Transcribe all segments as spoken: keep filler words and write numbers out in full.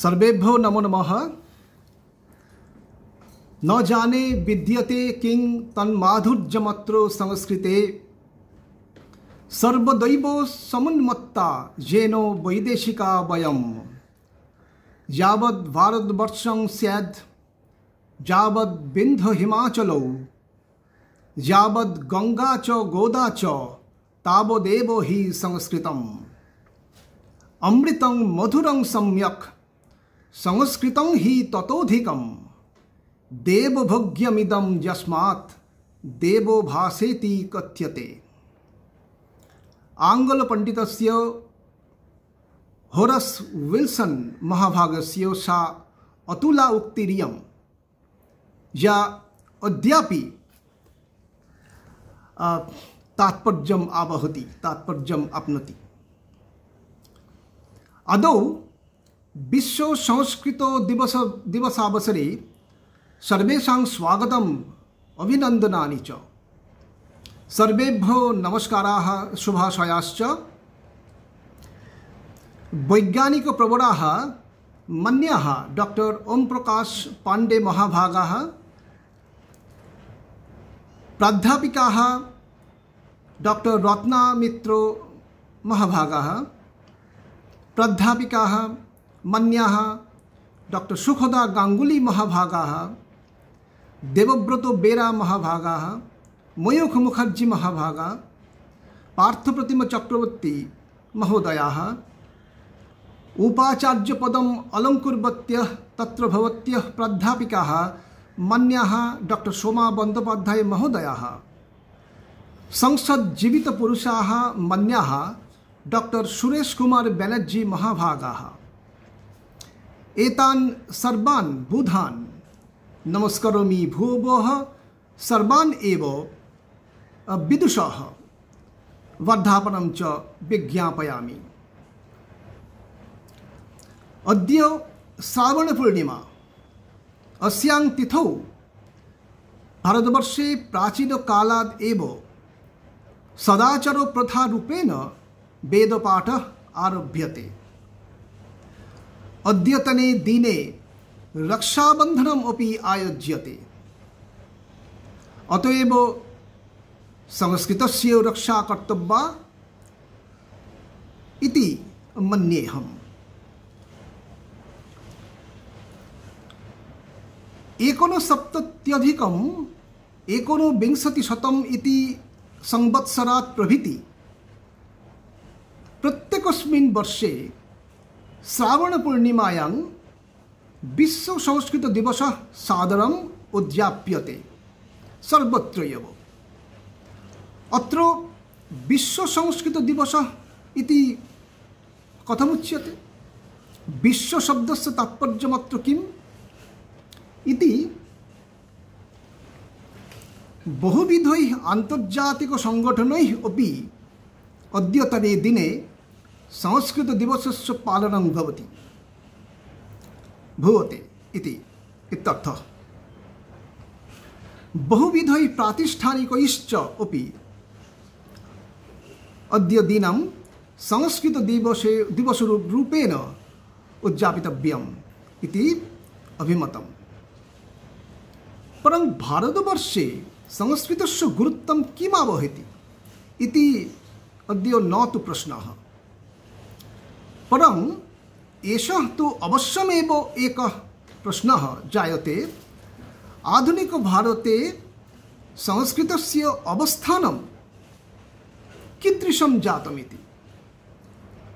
सर्वेभ्यो नमो नमः। न जाने विद्यते किं तन्माधुर्यमत्रो संस्कृते सर्वदैव समुन्मत्ता येनो वैदेशिका वयं यावद् भारतवर्षं स्याद् यावद् विन्ध्य हिमाचलो यावद् गंगा च गोदा च तावदेव हि संस्कृतम् अमृतं मधुरं सम्यक् संस्कृतं हि ततोधिकम् देवभोग्यमिदं यस्मात् देवो भासेति कथ्यते। आंग्ल पंडितस्य होरस विल्सन महाभागस्य सा अतुला उक्तिरियं या अद्यापि तात्पर्यम् आवहति तात्पर्यम् आप्नोति। आदौ विश्व संस्कृत दिवस दिवसावसरे सर्वेषां स्वागतम् अभिनन्दनानि च। सर्वेभ्यो नमस्काराः शुभाशयाश्च। वैज्ञानिकप्रवराः मन्याः डॉक्टर ओम प्रकाश पांडे महाभागाः, प्राध्यापिकाः डॉक्टर रत्ना मित्रो महाभागाः, प्राध्यापिकाः मन्याः डॉक्टर सुखदा गांगुली महाभागाः, देवव्रतो बेरा महाभागाः, मयूख मुखर्जी महाभागा, पार्थप्रतिम चक्रवर्ती महोदयाः, उपाचार्य पदम अलंकुर्वत्यः तत्र भवत्यः प्राध्यापिकाः मन्याः डॉक्टर सोमा बंदोपाध्याय महोदयाः, संसद जीवित पुरुषाः मन्याः डॉक्टर सुरेश कुमार बैनर्जी महाभागाः। एतान् सर्वान् बुधान् नमस्करोमि भूवः सर्वान् एव विदुषः वर्धापनं च विज्ञापयामि। अद्य श्रावण पूर्णिमा। अस्यां तिथौ भारतवर्षे प्राचीन कालात् एव सदाचार प्रथा रूपेण वेदपाठः आरभ्यते। अद्यतने दिने रक्षाबन्धनम् अपि आयोज्यते। अतएव संस्कृतस्य रक्षा कर्तव्या इति मन्येऽहम्। एकोनसप्तत्यधिकम् एकोनविंशतिशतम् इति संवत्सरात् प्रभृति प्रत्येकस्मिन् वर्षे श्रावण पूर्णिमायां विश्व संस्कृत दिवसः सादरम् उद्याप्यते सर्वत्र एव। अत्र विश्व संस्कृत दिवसः इति कथमुच्यते? विश्व शब्दस्य तात्पर्यमत्र किम् इति बहुविधैः आन्तर्जातिक संगठनैः अपि अद्यतने दिने संस्कृत दिवसस्य पालनं भवति भवते इति इत्यर्थः। बहुविधैः प्रातिष्ठानिकैश्च अपि अद्य दिनं संस्कृत दिवसे दिवसरूपेण उद्यापितव्यम् इति अभिमतम्। परं भारतवर्षे संस्कृतस्य गुरुत्वं किमावहति इति अद्य न तु प्रश्नः, परं एषः तु अवश्यमेव एकः प्रश्नः जायते। आधुनिक भारते संस्कृतस्य अवस्थानं कीदृशं जातमिति।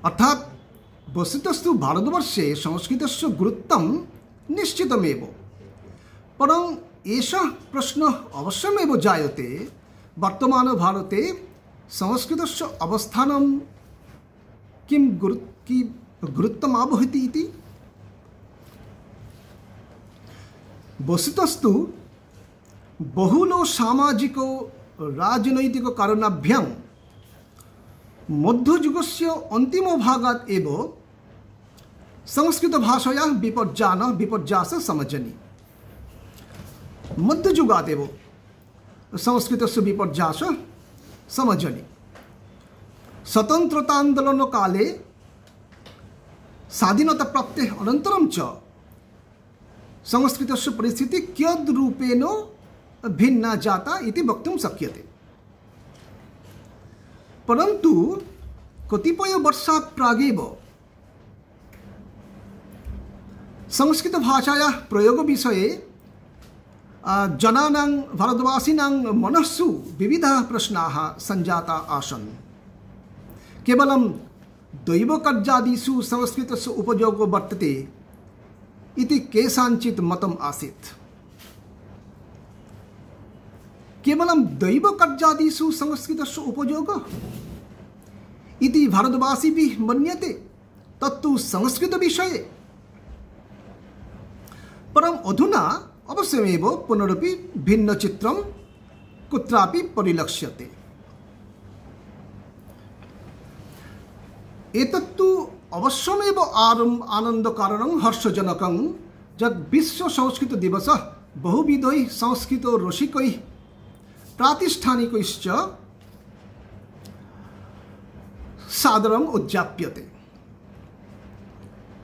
अर्थात् वस्तुतस्तु भारतवर्षे संस्कृतस्य गुरुत्वं निश्चितमेव, परं एषः प्रश्नः अवश्यमेव जायते वर्तमान भारते संस्कृतस्य अवस्थानं किं गुरु कि गुरुत्वम् आवहति इति। वस्तुतस्तु बहुलो सामाजिको राजनैतिक कारणाभ्यां मध्ययुगस्य अन्तिमभागात् एव संस्कृत भाषायाः विपर्यान विपर्यास समजनि। मध्ययुगात् एव संस्कृतस्य विपर्यास समजनि। स्वतन्त्रतान्दोलन काले स्वाधीनताप्राप्तेः अनन्तरं च संस्कृतस्य परिस्थितिः कियद्रूपेण भिन्ना जाता इति वक्तुं शक्यते। परन्तु कतिपयवर्षात् प्रागेव संस्कृतभाषायाः प्रयोगविषये जनानां भारतवासिनां मनस्सु विविधाः प्रश्नाः सञ्जाताः आसन्। केवलं दैवकार्यादिषु संस्कृतस्य उपयोगो वर्तते इति केषाञ्चित् मतम् आसीत्। केवलं दैवकार्यादिषु संस्कृतस्य उपयोगः इति भारतवासिभिः मन्यते, तत्तु संस्कृतविषये। परम् अधुना अवश्यमेव पुनरपि भिन्नचित्रं कुत्रापि परिलक्ष्यते। एतत्तु अवश्यमेव आरम् आनन्दकारणं हर्षजनकं यत् विश्वसंस्कृतदिवसः बहुविधैः संस्कृतरसिकैः प्रातिष्ठानिकैश्च सादरम् उद्याप्यते।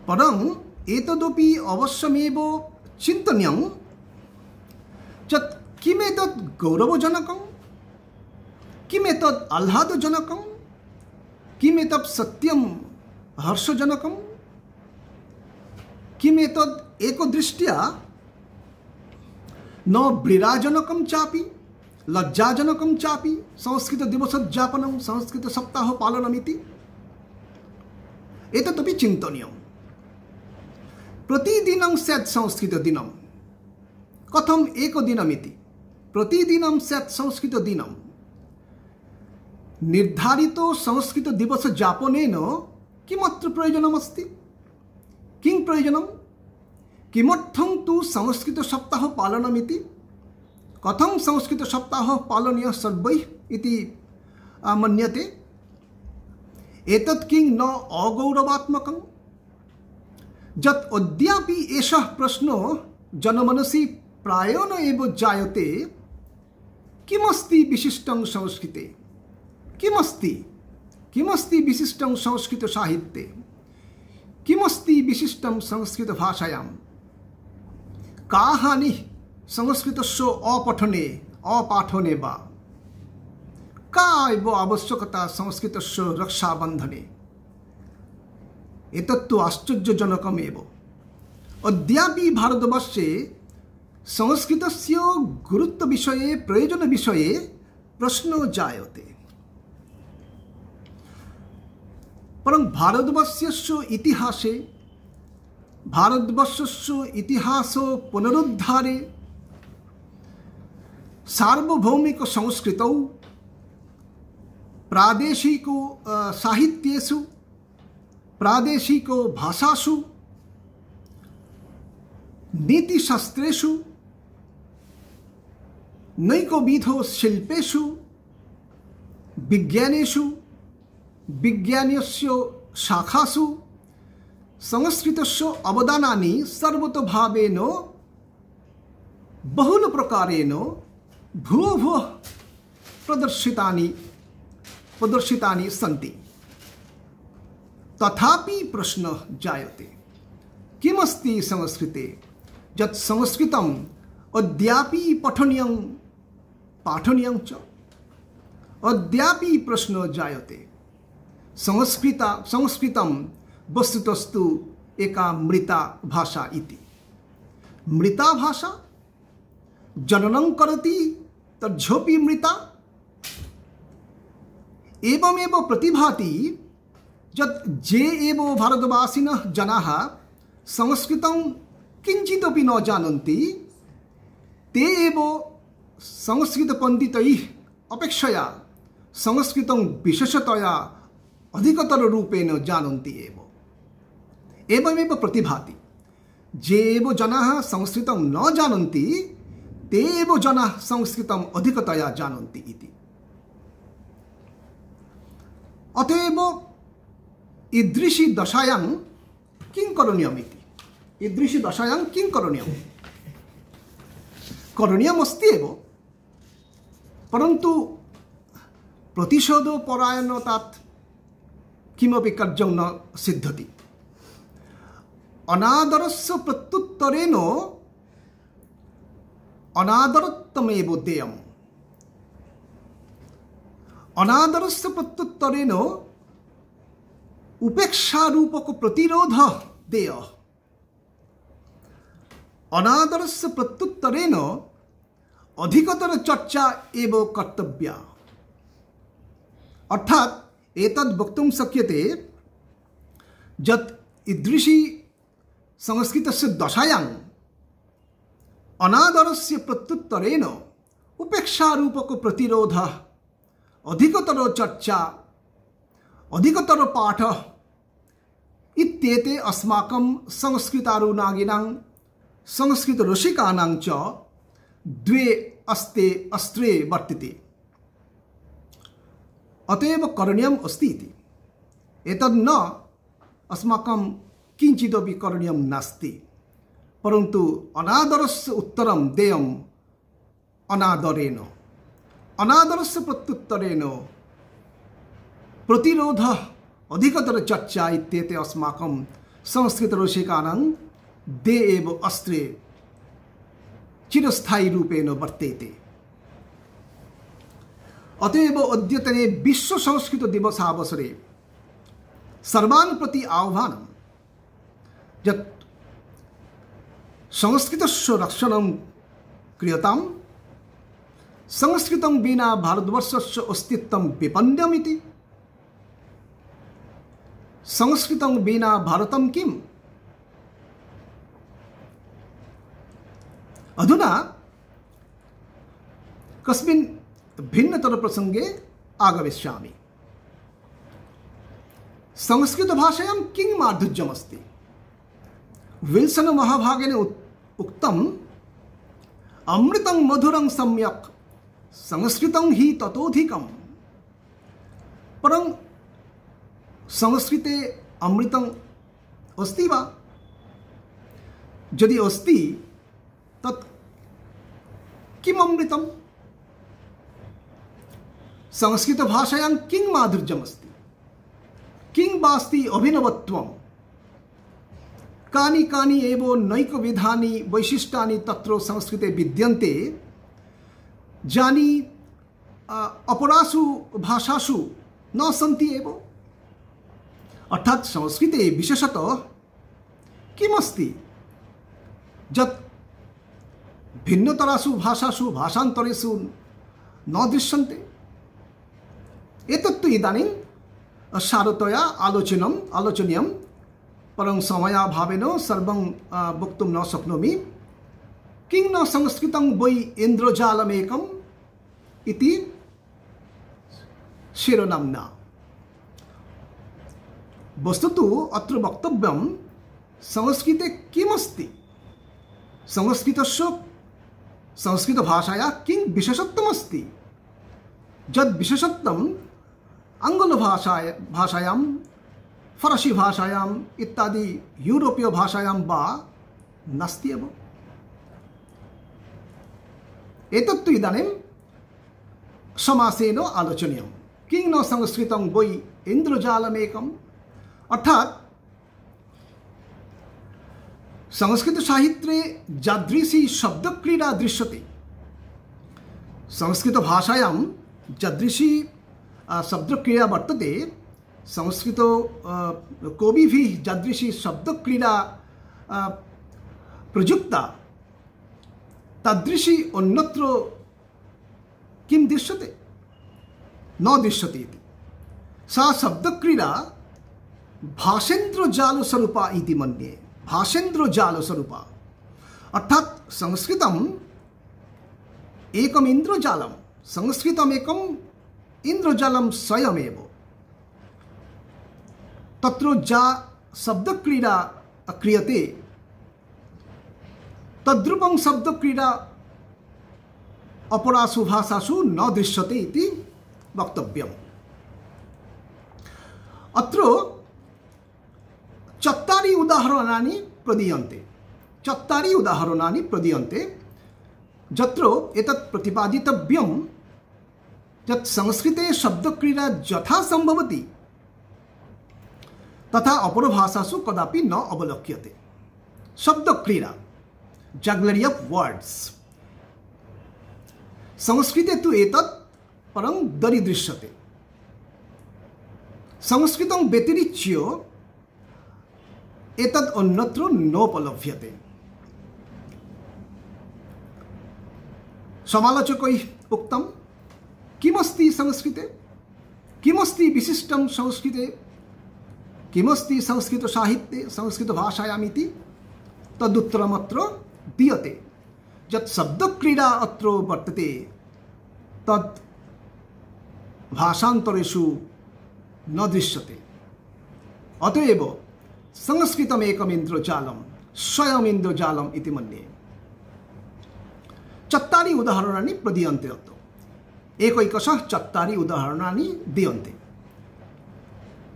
परम् एतदपि अवश्यमेव चिन्तनीयं यत् किमेतत् गौरवजनकं, किमेतत् आह्लादजनकं, किमेतत् सत्यं हर्षजनकं, किमेतत् एकदृष्ट्या न व्रीराजनकं चापि लज्जाजनकं चापि संस्कृतदिवसोद्यापनं संस्कृतसप्ताहपालनमिति एतदपि चिन्तनीयम्। प्रतिदिनं स्यात् संस्कृतदिनं, कथम् एकदिनमिति, प्रतिदिनं स्यात् संस्कृतदिनं। निर्धारितो संस्कृतदिवसयापनेन किमत्र प्रयोजनमस्ति? किं प्रयोजनं? किमर्थं तु संस्कृतसप्ताहपालनमिति? कथं संस्कृतसप्ताहः पालनीयः सर्वैः इति मन्यते? एतत् किं न अगौरवात्मकं? यत् अद्यापि एषः प्रश्नो जनमनसि प्रायेण एव जायते, किमस्ति विशिष्टं संस्कृते? किमस्ति किमस्ति विशिष्टं संस्कृतसाहित्ये? किमस्ति विशिष्टं संस्कृतभाषायां? का हानिः संस्कृतस्य अपठने अपाठने वा? का एव आवश्यकता संस्कृतस्य रक्षाबन्धने? एतत्तु आश्चर्यजनकमेव। अद्यापि भारतवर्षे संस्कृतस्य गुरुत्वविषये प्रयोजनविषये प्रश्नो जायते। परं भारतवर्षस्य इतिहासे भारतवर्षस्य इतिहास पुनरुद्धारे सार्वभौमिक संस्कृतौ प्रादेशिको साहित्येषु प्रादेशिको भाषासु नीतिशास्त्रेषु नैकविधो शिल्पेषु विज्ञानेषु विज्ञानस्य शाखासु संस्कृतस्य अवदानानि सर्वतोभावेन बहुलप्रकारेण भूः भूः प्रदर्शितानि प्रदर्शितानि सन्ति। तथापि प्रश्नः जायते, किमस्ति संस्कृते यत् संस्कृतम् अद्यापि पठनीयं पाठनीयं च? अद्यापि प्रश्नः जायते। संस्कृत संस्कृतं वस्तुतस्तु एका मृता भाषा इति। मृता भाषा जननं करोति तज्झोपि मृता। एवमेव प्रतिभाति यत् जे एव भारतवासिनः जनाः संस्कृतं किञ्चिदपि न जानन्ति, ते एव संस्कृतपण्डितैः अपेक्षया संस्कृतं विशेषतया अधिकतररूपेण जानन्ति एव। एवमेव प्रतिभाति जे एव जनाः संस्कृतं न जानन्ति, ते एव जनाः संस्कृतं अधिकतया जानन्ति इति। अतएव ईदृशी दशायां किं करणीयमिति, ईदृशी दशायां किं करणीयं? करणीयमस्ति एव, परन्तु प्रतिशोधपरायणतात् किमपि कार्यं न सिद्ध्यति। अनादरस्य प्रत्युत्तरेण अनादरत्वमेव देयम्। अनादरस्य प्रत्युत्तरेण उपेक्षा रूपक प्रतिरोध देय। अनादरस्य प्रत्युत्तरेण अधिकतर चर्चा एव कर्तव्या। अर्थात एतद् वक्तुं शक्यते यत् ईदृशी संस्कृतस्य दशायां अनादरस्य प्रत्युत्तरेण उपेक्षा रूपक प्रतिरोध, अधिकतर चर्चा, अधिकतर पाठ इत्येते अस्माकं संस्कृतारुणागिनां संस्कृतरसिकानां च द्वे अस्ते अस्त्रे वर्तते। अतएव करणीयम् अस्ति इति। एतद् न अस्माकं किञ्चिदपि करणीयं नास्ति, परन्तु अनादरस्य उत्तरं देयम् अनादरेण। अनादरस्य प्रत्युत्तरेण प्रतिरोध, अधिकतर चर्चा इत्येते अस्माकं संस्कृतरसिकानां द्वे एव अस्त्रे चिरस्थायी रूपेण वर्तेते। अतएव अद्यतने विश्व संस्कृत दिवसावसरे सर्वान् प्रति आह्वानं यत् संस्कृतस्य रक्षणं क्रियताम्। संस्कृतं विना भारतवर्षस्य अस्तित्वं विपन्नमिति। संस्कृतं विना भारतं किम्? अधुना कस्मिन् भिन्नतर प्रसंगे आगमिष्यामि। संस्कृत भाषायां किं माधुर्यमस्ति? विल्सन महाभागेन उक्तम्, अमृतं मधुरं सम्यक् संस्कृतं हि ततोधिकम्। परं संस्कृते अमृतम् अस्ति वा? यदि अस्ति तत् किम् अमृतम्? संस्कृत भाषायां किं माधुर्यमस्ति? किं वास्ति अभिनवत्वम्? कानि कानि एव नैकविधानि वैशिष्ट्यानि तत्र संस्कृते विद्यन्ते, यानि अपरासु भाषासु न सन्ति एव। अर्थात् संस्कृते विशेषतः किमस्ति यत् भिन्नतरासु भाषासु भाषान्तरेषु न दृश्यन्ते? एतत्तु इदानीं सारतया आलोचनम् आलोचनीयं, परं समयाभावेन सर्वं वक्तुं न शक्नोमि। किं न संस्कृतं वै इन्द्रजालमेकम् इति शिरोनाम्ना। वस्तुतः अत्र वक्तव्यं संस्कृते किमस्ति, संस्कृतस्य संस्कृतभाषायाः किं विशेषत्वमस्ति, यद् विशेषत्वम् आङ्ग्लभाषाया भाषायां, फरसी भाषायाम् इत्यादि यूरोपीय भाषायां वा नास्ति एव। एतत्तु इदानीं समासेन आलोचनीयं। किं न संस्कृतं वै इन्द्रजालमेकम्? अर्थात् संस्कृत साहित्ये यादृशी शब्दक्रीडा दृश्यते, संस्कृत भाषायां यादृशी शब्दक्रीडा वर्तते, संस्कृत कविभिः यादृशी शब्दक्रीडा प्रयुक्ता, तादृशी अन्यत्र किं दृश्यते? न दृश्यते इति। सा शब्दक्रीडा भाषेन्द्रजालस्वरूपा इति मन्ये। भाषेन्द्रजालस्वरूपा अर्थात् संस्कृतम् एकम् इन्द्रजालं, संस्कृतमेकम् इन्द्रजालं स्वयमेव। तत्र या शब्दक्रीडा क्रियते तद्रूपं शब्दक्रीडा अपरासु भाषासु न दृश्यते इति वक्तव्यम्। अत्र चत्वारि उदाहरणानि प्रदीयन्ते चत्वारि उदाहरणानि प्रदीयन्ते यत्र एतत् प्रतिपादितव्यं यत् संस्कृते शब्दक्रीडा यथा सम्भवति तथा अपरभाषासु कदापि न अवलोक्यते। शब्दक्रीडा, जग्लरी ऑफ वर्ड्स। संस्कृते तु एतत् परं दरीदृश्यते। संस्कृतं व्यतिरिच्य एतद् अन्यत्र नोपलभ्यते। समालोचकैः उक्तं किमस्ति संस्कृते, किमस्ति विशिष्टं संस्कृते, किमस्ति संस्कृतसाहित्ये संस्कृतभाषायाम् इति तदुत्तरमत्र दीयते। यत् शब्दक्रीडा अत्र वर्तते तत् भाषान्तरेषु न दृश्यते। अतएव संस्कृतमेकमिन्द्रजालं स्वयमिन्द्रजालम् इति मन्ये। चत्वारि उदाहरणानि प्रदीयन्ते अत्र। एकैकशः चत्वारि उदाहरणानि दीयन्ते।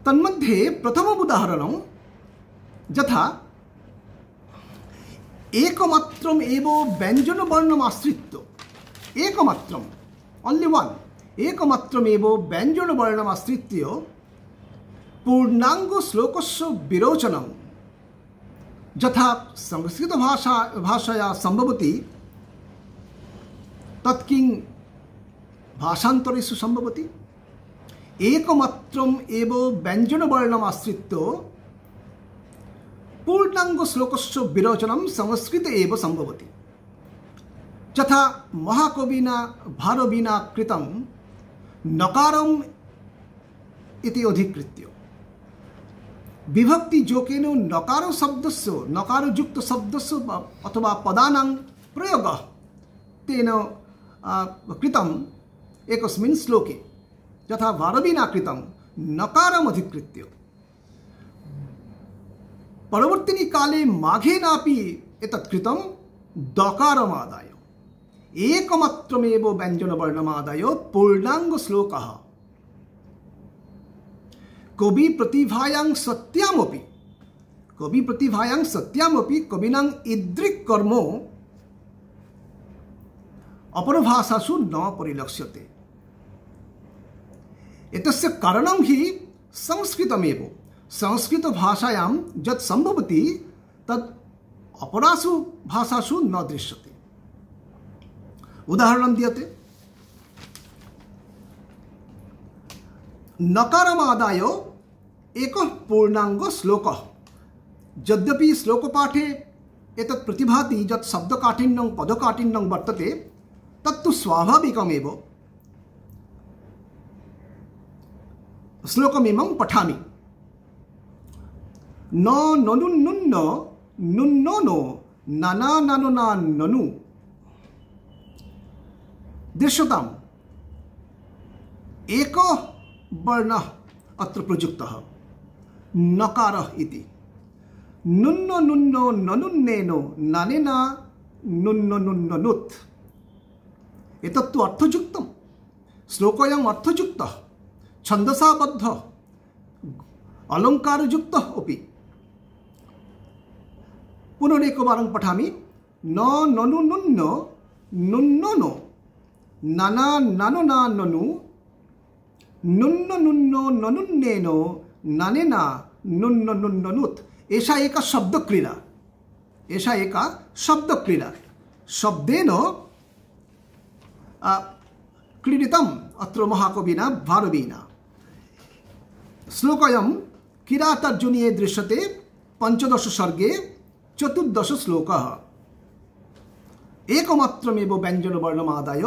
तन्मध्ये प्रथमम् उदाहरणं यथा एकमात्रम् एव व्यञ्जनवर्णम् आश्रित्य, एकमात्रम् ओन्ली वन, एकमात्रम् एव व्यञ्जनवर्णम् आश्रित्य पूर्णाङ्ग श्लोकस्य विरोचनं यथा संस्कृतभाषा भाषया सम्भवति तत् किं भाषान्तरेषु सम्भवति? एकमात्रम् एव व्यञ्जनवर्णम् आश्रित्य पूर्णाङ्ग श्लोकस्य विरोचनं संस्कृते एव सम्भवति। यथा महाकविना भारविना कृतं नकारम् इति अधिकृत्य विभक्ति जोकेन नकार शब्दस्य, नकारयुक्त शब्दस्य अथवा पदानां प्रयोगः तेन कृतम् एकस्मिन् श्लोके। यथा भारविना कृतं नकारम् अधिकृत्य। परवर्तिनि काले माघेनापि एतत् कृतं दकारमादाय। एकमात्रमेव व्यञ्जनवर्णमादाय पूर्णाङ्ग श्लोकः। कवि प्रतिभायां सत्यामपि, कवि प्रतिभायां सत्यामपि कविनां ईदृक् कर्म अपरभाषासु न परिलक्ष्यते। एतस्य कारणं हि संस्कृतमेव। संस्कृतभाषायां यत् सम्भवति तत् अपरासु भाषासु न दृश्यते। उदाहरणं दीयते। नकारमादाय एकः पूर्णाङ्ग श्लोकः। यद्यपि श्लोकपाठे एतत् प्रतिभाति यत् शब्दकाठिन्यं पदकाठिन्यं वर्तते तत्तु स्वाभाविकमेव। श्लोकमिमं पठामि। न ननु नुन्न नुन्नो नो नना ननु ना ननु। दृश्यताम् एकः वर्णः अत्र प्रयुक्तः नकारः इति। नुन्नो नुन्नो ननुन्नेनो ननेना नुन्नो नुन्नो नुत्। एतत्तु अर्थयुक्तं। श्लोकोऽयम् अर्थयुक्तः, छन्दसाबद्धः, अलङ्कारयुक्तः अपि। पुनरेकवारं पठामि। न ननु नुन्न नुन्नो नो नना ननु ना ननु नुन्न नुन्नो ननुन्नेनो ननेना नुन्न नुन्न नुत्। एषा एका शब्दक्रीडा। एषा एका शब्दक्रीडा। शब्देन क्रीडितम् अत्र महाकविना भारविना। श्लोकोऽयं किरातार्जुनीये दृश्यते। पंचदश सर्गे चतुर्दश श्लोकः। एकमात्रमेव व्यञ्जनवर्णमादाय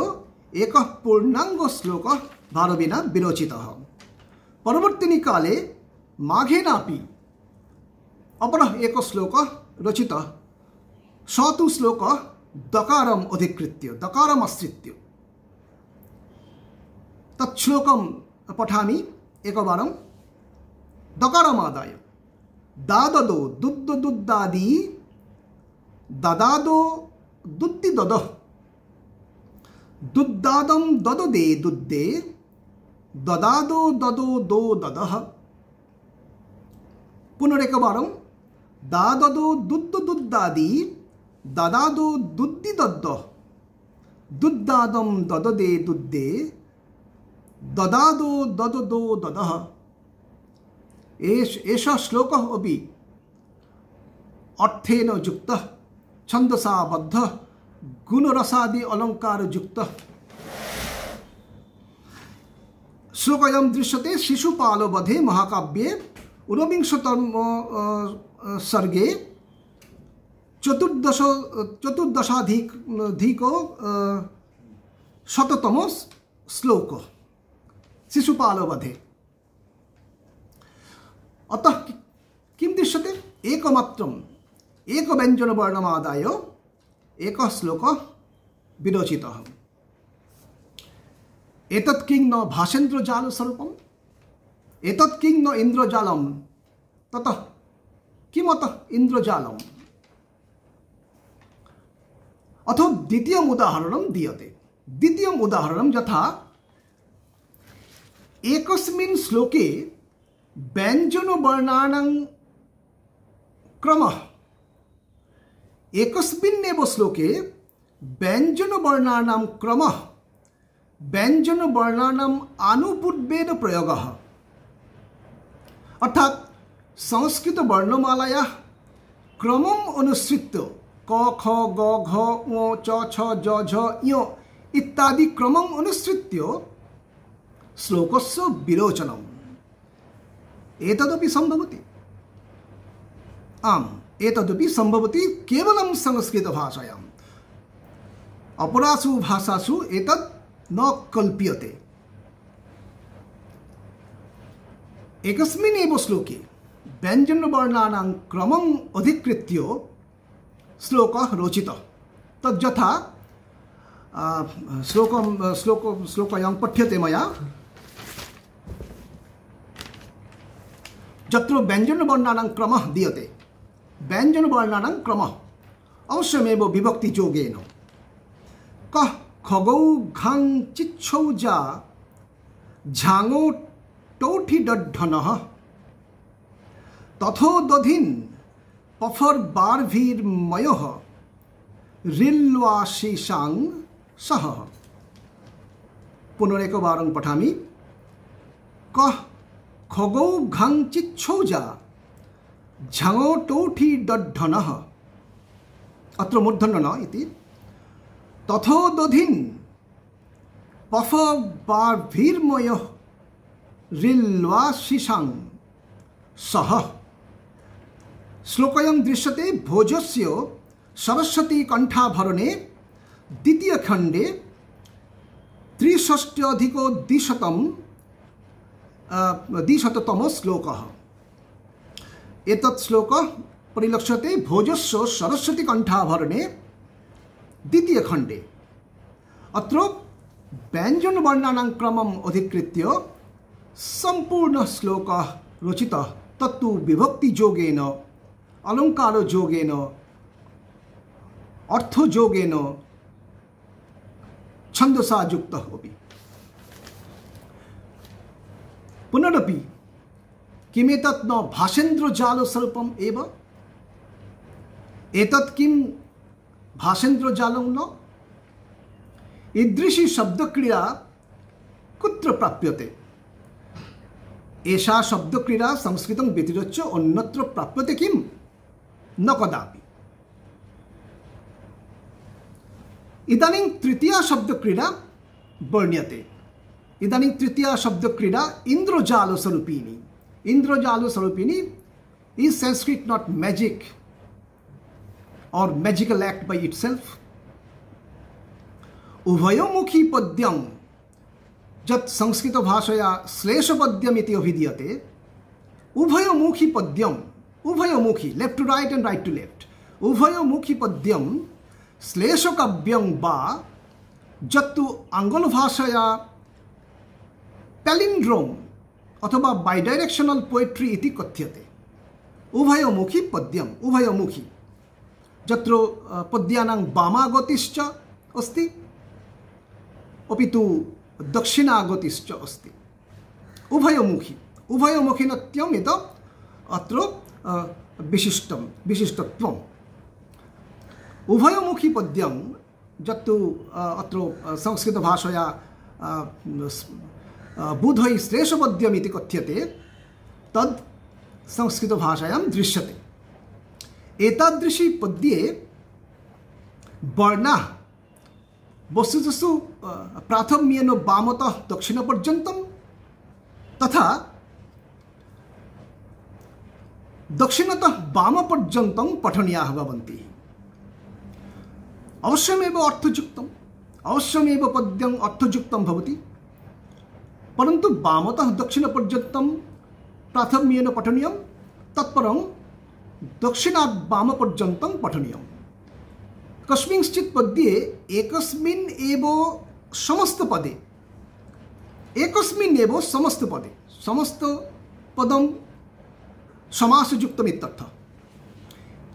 एकः पूर्णाङ्ग श्लोकः भारविना विरोचितः। परवर्तिनि काले माघेनापि अपरः एकः श्लोकः रचितः। स तु श्लोकः दकारम् अधिकृत्य, दकारम् आश्रित्य। तत् श्लोकं पठामि एकवारं। दकारमादाय दाददो दुद्द दुद्दादि ददादो दुद्दि ददः दुद्दादं दददे दुद्दे ददादो ददो दो ददः। पुनरेकवारं दाददो दुद्द दुद्दादि ददादो दुद्दि दद्दः दुद्दादं दददे दुद्दे ददादो दददो ददः। एष एषः श्लोकः अपि अर्थेन युक्तः छन्दसा बद्धः गुणरसादि अलंकार युक्तः। श्लोकयं दृश्यते शिशुपालवधे महाकाव्ये ऊनविंशतम सर्गे चतुर्दश चतुर्दशाधिको शततमो श्लोक शिशुपालवधे। अतः किं दृश्यते? एकमात्रम् एक व्यञ्जनवर्णमादाय एकः श्लोकः विरचितः। एतत् किं न भासेन्द्रजालस्वरूपम्, एतत् किं न इन्द्रजालम्, ततः किमतः इन्द्रजालम्। अथो द्वितीयम् उदाहरणं दीयते। द्वितीयम् उदाहरणं यथा एकस्मिन् श्लोके व्यञ्जनवर्णानां क्रमः, एकस्मिन्नेव श्लोके व्यञ्जनवर्णानां क्रमः व्यञ्जनवर्णानाम् आनुपूर्वेन प्रयोगः। अर्थात संस्कृत वर्णमालायाः क्रमम् अनुसृत्य क ख ग घ ङ च छ ज झ ञ इत्यादि क्रमम् अनुसृत्य श्लोकस्य विरोचनम् एतदपि सम्भवति। आम्, एतदपि सम्भवति केवलं संस्कृतभाषायाम्। अपरासु भाषासु एतत् न कल्प्यते। एकस्मिन् एव श्लोके व्यञ्जनवर्णानां क्रमम् अधिकृत्य श्लोकः रोचितः। तद्यथा श्लोकं श्लोक श्लोकयं पठ्यते मया। यत्र व्यञ्जनवर्णानां क्रमः दीयते, व्यञ्जनवर्णानां क्रमः अवश्यमेव विभक्तियोगेन कः खगौ घां चिच्छौ जा झाङो टौठि डड्ढनः तथो दधिन् पफर बार्भिर्मयः रिल्वाशीशां सह। पुनरेकवारं पठामि। कः खगौ घां चिच्छौ जा झाङो टौठि डड्ढनः, अत्र मूर्धन्य न इति। तथो दधिन् पफ बार्भिर्मयः रिल्वाशीशां सह। श्लोकयं दृश्यते भोजस्य सरस्वती कंठाभरणे द्वितीय खंडे त्रिषष्ट्यधिको द्विशतं द्विशततमो श्लोकः। एतत् श्लोकः परिलक्ष्यते भोजस्य सरस्वती कंठाभरणे द्वितीय खंडे। अत्र व्यञ्जनवर्णानां क्रमम् अधिकृत्य संपूर्ण श्लोकः रचितः। तत्तु विभक्तियोगेन अलङ्कारयोगेन अर्थयोगेन छन्दसा युक्तः अपि। पुनरपि किमेतत् न भासेन्द्रजालस्वरूपम् एव? एतत् किं भासेन्द्रजालं न? ईदृशी शब्दक्रिया कुत्र प्राप्यते? एषा शब्दक्रिया संस्कृतं व्यतिरिच्य अन्यत्र प्राप्यते किं? न कदापि। इदानीं तृतीया शब्दक्रीडा वर्ण्यते। इदानीं तृतीया शब्दक्रीडा इन्द्रजालस्वरूपिणी। इन्द्रजालस्वरूपिणी is Sanskrit not magic or magical act by itself? उभयोमुखी पद्यं जत् संस्कृत भाषया श्लेषपद्यम् इति अभिधीयते, उभयोमुखी पद्यम्, उभयोमुखी left to right and right to left, उभयोमुखी पद्यं श्लेषकाव्यं वा जत्तु आंग्ल भाषया पैलिंड्रोम अथवा बाइडायरेक्शनल पोएट्री इति कथ्यते। उभयोमुखी पद्यम्, उभयोमुखी जत्र पद्यानां वामागतिश्च अस्ति अपि तु दक्षिणागतिश्च अस्ति। उभयोमुखी उभयोमुखिनत्यम् इति अत्र विशिष्टं विशिष्टत्वम्। उभयोमुखी पद्यं जत्तु अत्र संस्कृत भाषया बुधै श्लेषपद्यम् इति कथ्यते, तद् संस्कृत भाषायां दृश्यते। एतादृशी पद्ये वर्णाः वस्तुतस्तु प्राथम्येन वामतः दक्षिणपर्यन्तं तथा दक्षिणतः वामपर्यन्तं पठनीयाः भवन्ति। अवश्यमेव अर्थयुक्तम्, अवश्यमेव पद्यम् अर्थयुक्तं भवति, परन्तु वामतः दक्षिणपर्यन्तं प्राथम्येन पठनीयं, तत्परं दक्षिणात् वामपर्यन्तं पठनीयं। कस्मिंश्चित् पद्ये एकस्मिन् एव समस्तपदे एकस्मिन् एव समस्तपदे समस्तपदं समासयुक्तम् इत्यर्थः।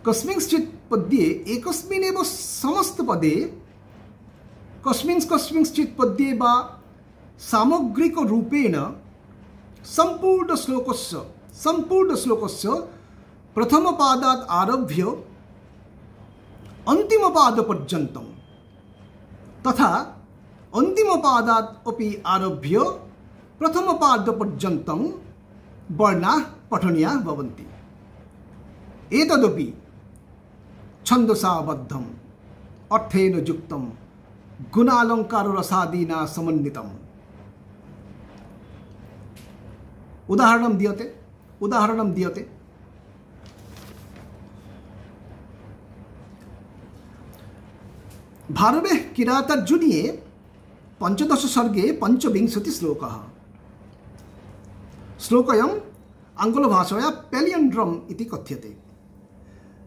कस्मिंश्चित् पद्ये एकस्मिन् एव समस्तपदे कस्मिन् कस्मिंश्चित् पद्ये वा सामग्रिकरूपेण सम्पूर्णश्लोकस्य सम्पूर्णश्लोकस्य प्रथमपादात् आरभ्य अन्तिमपादपर्यन्तं तथा अन्तिमपादात् अपि आरभ्य प्रथमपादपर्यन्तं वर्णाः पठनीयाः भवन्ति। एतदपि छन्दसाबद्धम् अर्थेन युक्तं गुणालङ्काररसादीना समन्वितम्। उदाहरणं दीयते उदाहरणं दीयते भारवे किरातार्जुनीये पंचदश सर्गे पंचविंशति श्लोकः। श्लोकयम् आङ्ग्लभाषया पेलियंड्रम इति कथ्यते।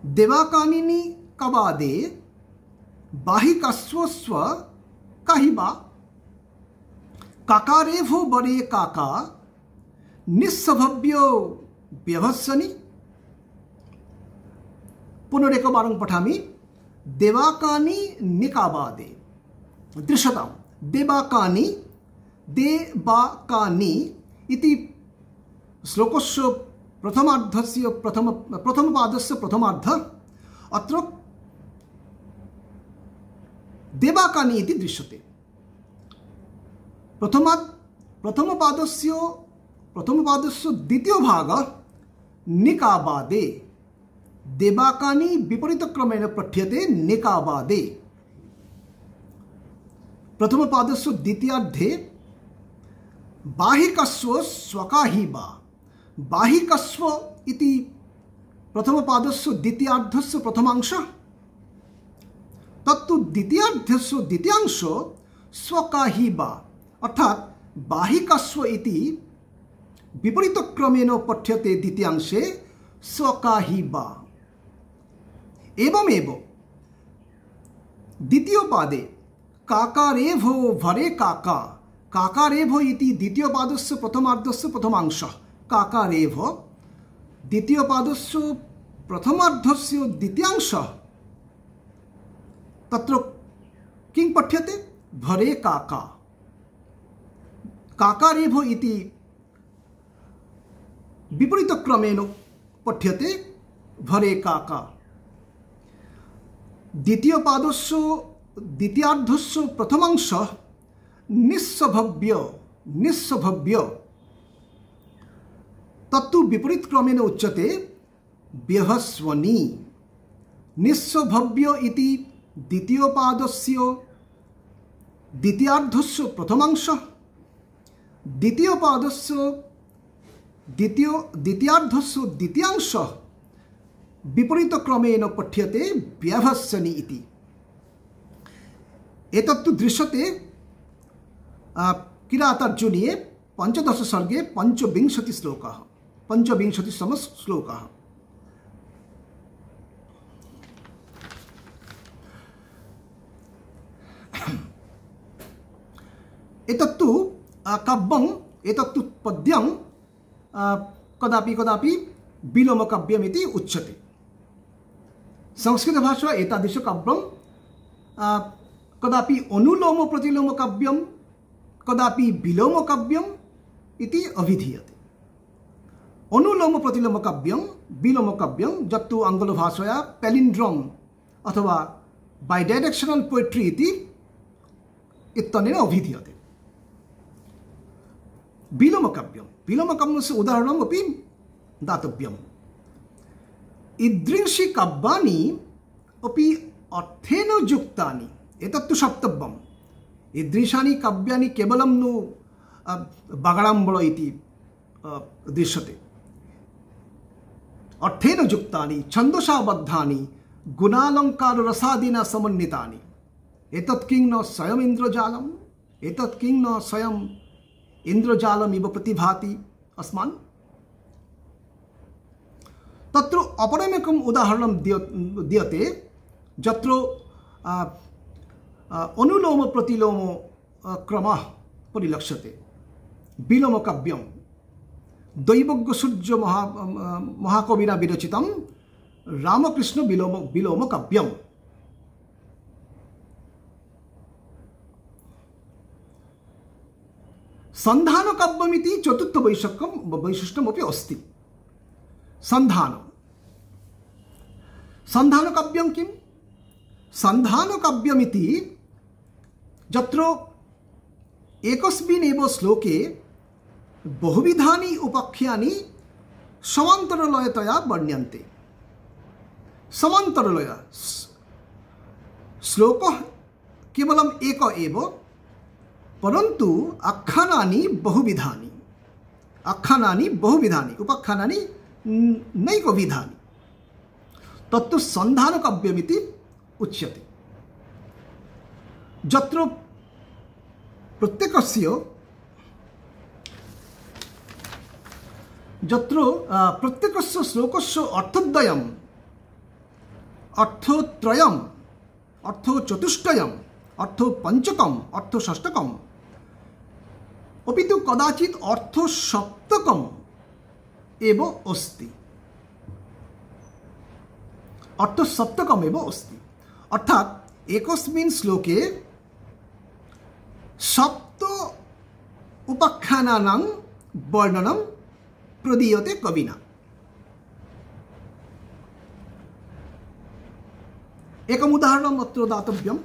देवाकानिनि कवादे बाहिकास्वस्व काहिबा काकारेभो बरे काका निस्सभव्यो व्यभत्सनि। पुनरेकवारं पठामि। देवाकानि निकाबादे दृश्यतां देवाकानि देवाकानि इति श्लोकस्य प्रथमार्धस्य प्रथम प्रथमपादस्य प्रथमार्ध अत्र देवाकानि इति दृश्यते। प्रथमात् प्रथमपादस्य प्रथमपादस्य द्वितीय भाग निकाबादे देवाकानि विपरीतक्रमेण पठ्यते निकाबादे। प्रथमपादस्य द्वितीयार्धे बाहिकस्व स्वकाहिबा बाहिकस्व इति प्रथमपादस्य द्वितीयार्धस्य प्रथमांशः, तत्तु द्वितीयार्धस्य द्वितीयांश स्वकाहिबा अर्थात बाहिकस्व इति विपरीतक्रमेण पठ्यते द्वितीयांशे स्वकाहिबा। एवमेव द्वितीय पादे काकारेभो भरे काका काकारेभो इति द्वितीय पादस्य प्रथमार्धस्य प्रथमांशः काकारेभो, द्वितीय पादस्य प्रथमार्धस्य द्वितीयांशः तत्र किं पठ्यते भरे काका। काकारेभो इति विपरीतक्रमेण पठ्यते भरे काका। द्वितीय पादस्य द्वितीयार्धस्य प्रथमांशः निस्सभव्य निस्सभव्य तत्तु विपरीतक्रमेण उच्यते व्यभस्वनि। निस्सभव्य इति द्वितीय पादस्य द्वितीयार्धस्य प्रथमांशः, द्वितीय पादस्य द्वितीय द्वितीयार्धस्य द्वितीयांशः विपरीतक्रमेण पठ्यते व्यभस्सनि इति। एतत्तु दृश्यते किरातार्जुनीये पंचदश सर्गे पंचविंशति श्लोकः पंचविंशतितम श्लोकः। एतत्तु काव्यम् एतत्तु पद्यं कदापि कदापि विलोमकाव्यमिति उच्यते। संस्कृतभाषा एतादृश काव्यं कदापि अनुलोम प्रतिलोम काव्यं कदापि विलोम काव्यम् इति अभिधीयते। अनुलोम प्रतिलोम काव्यं विलोम काव्यं यत्तु आङ्ग्लभाषया पैलिंड्रोम अथवा बाइडायरेक्शनल पोएट्री इति इत्यनेन अभिधीयते। विलोम काव्यं विलोम काव्यस्य उदाहरणम् अपि दातव्यम्। ईदृशी काव्यानि अपि अर्थेन युक्तानि एतत्तु सप्तव्यम्। ईदृशानि काव्यानि केवलं नु बागडाम्बळ इति दृश्यते। अर्थेन युक्तानि छन्दसाबद्धानि गुणालंकार रसादिना समन्वितानि। एतत् किं न स्वयं इन्द्रजालम्, एतत् किं न स्वयं इन्द्रजालमिव प्रतिभाति अस्मान्। तत्र अपरमेकम् उदाहरणं दीयते यत्र अनुलोम प्रतिलोम क्रमः परिलक्ष्यते। विलोम काव्यं दैवज्ञ सूर्य महा महाकविना विरचितं रामकृष्ण विलोम विलोम काव्यम्। संधान काव्यमिति चतुर्थ वैशिष्ट्यं वैशिष्ट्यमपि अस्ति। संधान संधान काव्यं किं? संधान काव्यमिति यत्र एकस्मिन् एव श्लोके बहुविधानि उपाख्यानि समान्तरलयतया वर्ण्यन्ते। समान्तरलय श्लोकः केवलम् एक एव, परन्तु आख्यानानि बहुविधानि, आख्यानानि बहुविधानि, उपाख्यानानि नैकविधानि। तत्तु संधान काव्यमिति उच्यते। यत्र प्रत्येकस्य यत्र प्रत्येकस्य श्लोकस्य अर्थद्वयम्, अर्थत्रयम्, अर्थचतुष्टयम्, अर्थपञ्चकम्, अर्थषष्टकम्, अपि तु कदाचित् अर्थसप्तकम् एव अस्ति। अर्थसप्तकम् एव अस्ति। अर्थात् एकस्मिन् श्लोके सप्त उपाख्यानानां वर्णनं प्रदीयते कविना। एकम् उदाहरणम् अत्र दातव्यम्।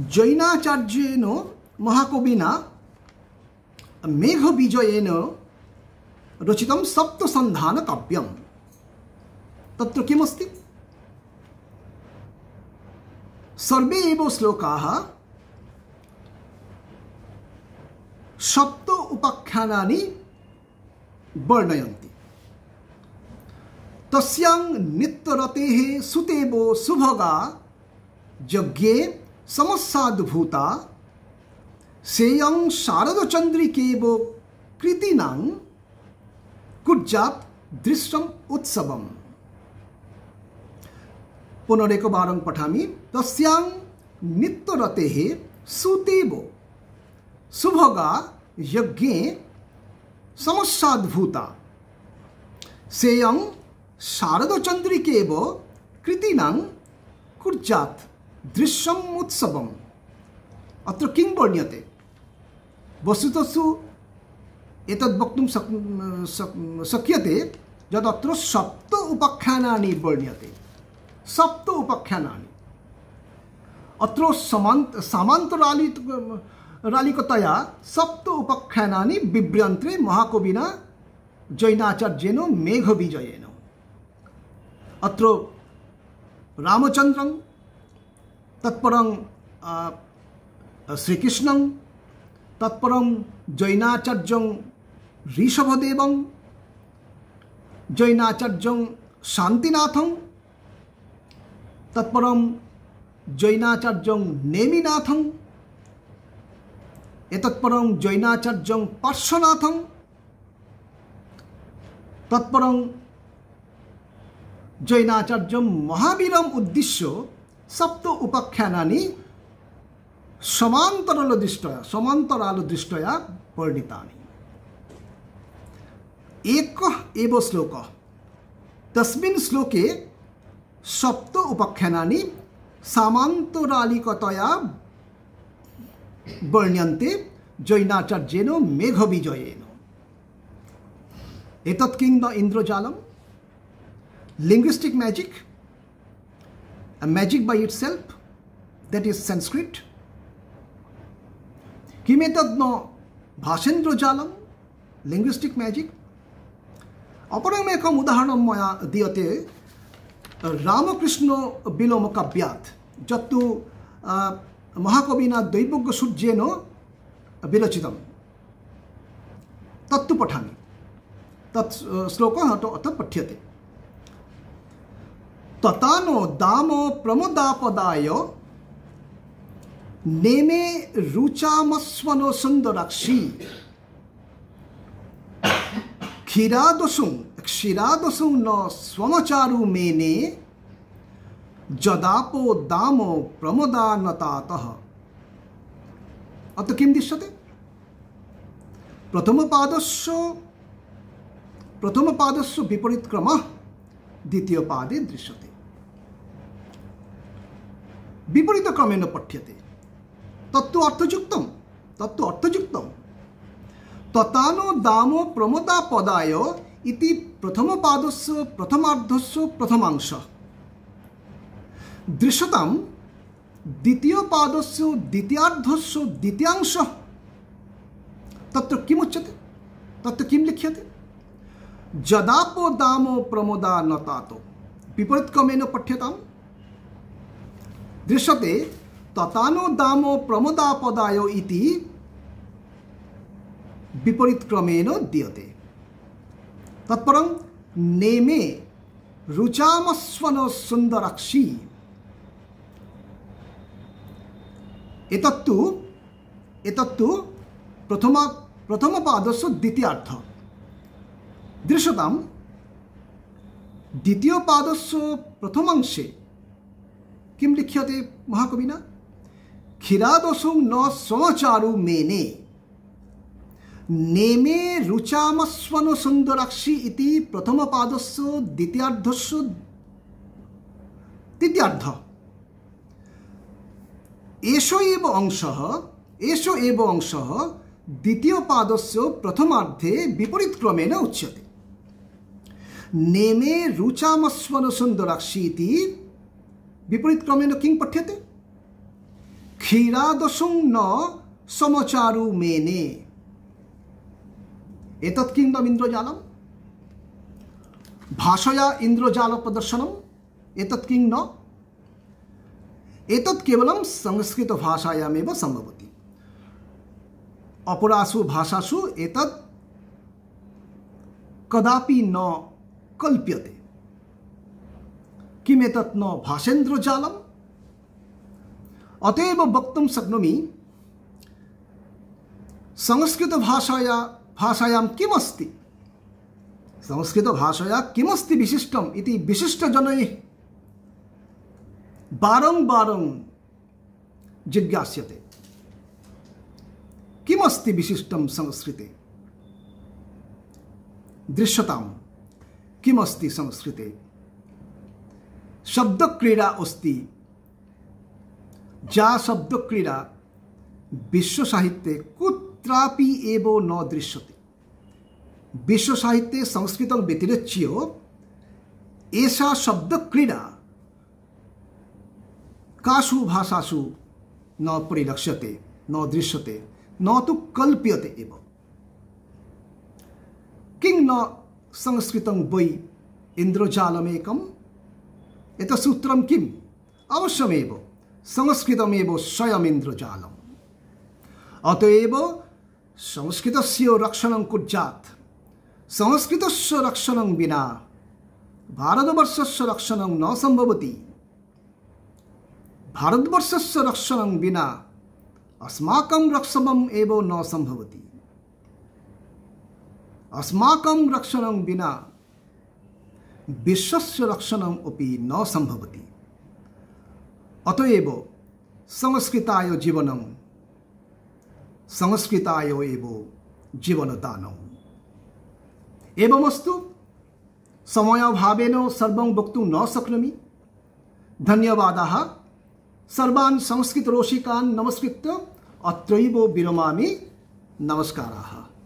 जैनाचार्येण महाकविना मेघविजयेन रचितं सप्तसन्धान काव्यं। तत्र किमस्ति? सर्वे एव श्लोकाः सप्त उपाख्यानानि वर्णयन्ति। तस्यां नित्यरतेः सुतेवो सुभगा यज्ञे समस्साद्भूता सेयं शारदचन्द्रिकेव कृतीनां कुर्यात् दृश्यम् उत्सवम्। पुनरेकवारं पठामि। तस्यां नित्यरतेः सुतेव सुभगा यज्ञे समस्साद्भूता सेयं शारदचन्द्रिकेव कृतीनां कुर्यात् दृश्यम् उत्सवम्। अत्र किं वर्ण्यते? वस्तुतस्तु एतद् वक्तुं शक्यते यदत्र सप्त उपाख्यानानि वर्ण्यते। सप्त उपाख्यानानि अत्र समान्त सामान्तरालित रालिकतया सप्त उपाख्यानानि बिभ्र्यन्ते महाकविना जैनाचार्येण मेघविजयेन। अत्र रामचन्द्रं, तत्परं श्रीकृष्णं, तत्परं जैनाचार्यं ऋषभदेवं, जैनाचार्यं शान्तिनाथं, तत्परं जैनाचार्यं नेमिनाथं, एतत्परं जैनाचार्यं पार्श्वनाथं, तत्परं जैनाचार्यं महावीरम् उद्दिश्य सप्त उपाख्यानानि समान्तरालदृष्ट्या समान्तरालदृष्ट्या वर्णितानि। एकः एव श्लोकः, तस्मिन् श्लोके सप्त उपाख्यानानि सामान्तरालिकतया वर्ण्यन्ते जैनाचार्येण मेघविजयेन। एतत् किं न इन्द्रजालम्? Linguistic magic, a magic by itself, that is Sanskrit. किमेतद् न भाषेन्द्रजालम्, linguistic magic? अपरम् एकम् उदाहरणं मया दीयते रामकृष्ण विलोमकाव्यात्, यत्तु महाकविना दैवज्ञसूर्येण विरचितं। तत्तु पठामि। तत् श्लोकः अतः पठ्यते। ततानो दामो प्रमोदापदाय नेमे रुचामस्वनो सुंदराक्षी क्षीरादसुं क्षीरादसुं न स्वमचारु मेने जदापो दामो प्रमोदानतातः। अत्र किं दृश्यते? प्रथमपादस्य प्रथमपादस्य विपरीतक्रमः द्वितीयपादे दृश्यते। विपरीतक्रमेण पठ्यते। तत्तु अर्थयुक्तं तत्तु अर्थयुक्तं ततानो दामो प्रमोदापदाय इति प्रथमपादस्य प्रथमार्धस्य प्रथमांशः दृश्यतां द्वितीयपादस्य द्वितीयार्धस्य द्वितीयांशः। तत्र किमुच्यते? तत्र किं लिख्यते? जदापो दामो प्रमोदानतातो। विपरीतक्रमेण पठ्यताम्। दृश्यते ततानो दामो प्रमोदापदाय इति विपरीतक्रमेण दीयते। तत्परं नेमे रुचामस्वन सुंदराक्षी। एतत्तु एतत्तु प्रथम प्रथमपादस्य द्वितीयार्धः। दृश्यतां द्वितीयपादस्य प्रथमांशे किं लिख्यते महाकविना? क्षीरादसुं न स्वमचारु मेने नेमे रुचामस्वन सुंदराक्षी इति प्रथमपादस्य द्वितीयार्धस्य तृतीयार्धः। एषो एव अंशः एषो एव अंशः द्वितीयपादस्य प्रथमार्धे विपरीतक्रमेण उच्यते। नेमे रुचामस्वन सुंदराक्षी इति विपरीतक्रमेण किं पठ्यते? क्षीरादसुं न समचारु मेने। एतत् किं इन्द्रजालं? भाषया इन्द्रजाल प्रदर्शनम्। एतत् किं न? एतत् केवलं संस्कृत भाषायामेव सम्भवति। अपरासु भाषासु एतत् कदापि न कल्प्यते। किम् एतत् न भाषेन्द्रजालम्? अतएव वक्तुं शक्नोमि संस्कृत भाषाया भाषायां किमस्ति संस्कृत भाषाया किमस्ति विशिष्टम् इति विशिष्टजनैः बारंबारं जिज्ञास्यते। किमस्ति विशिष्टं संस्कृते? दृश्यतां किमस्ति संस्कृते? शब्दक्रीडा अस्ति। जा शब्दक्रीडा विश्वसाहित्ये कुत्रापि एव न दृश्यते। विश्वसाहित्ये संस्कृतं व्यतिरिच्य एषा शब्दक्रीडा कासु भाषासु न परिलक्ष्यते, न दृश्यते, न तु कल्प्यते एव। किं न संस्कृतं वै इन्द्रजालमेकम्? एतत् सूत्रं किम्? अवश्यमेव संस्कृतमेव स्वयम् इन्द्रजालम्। अतएव संस्कृतस्य रक्षणं कुर्यात्। संस्कृतस्य रक्षणं विना भारतवर्षस्य रक्षणं न सम्भवति। भारतवर्षस्य रक्षणं विना अस्माकं रक्षणम् एव न सम्भवति। अस्माकं रक्षणं विना विश्वस्य रक्षणम् अपि न सम्भवति। अतएव संस्कृताय जीवनं, संस्कृताय एव जीवनदानम्। एवमस्तु। समयाभावेन सर्वं वक्तुं न शक्नोमि। धन्यवादाः। सर्वान् संस्कृतरसिकान् नमस्कृत्य अत्रैव विरमामि। नमस्काराः।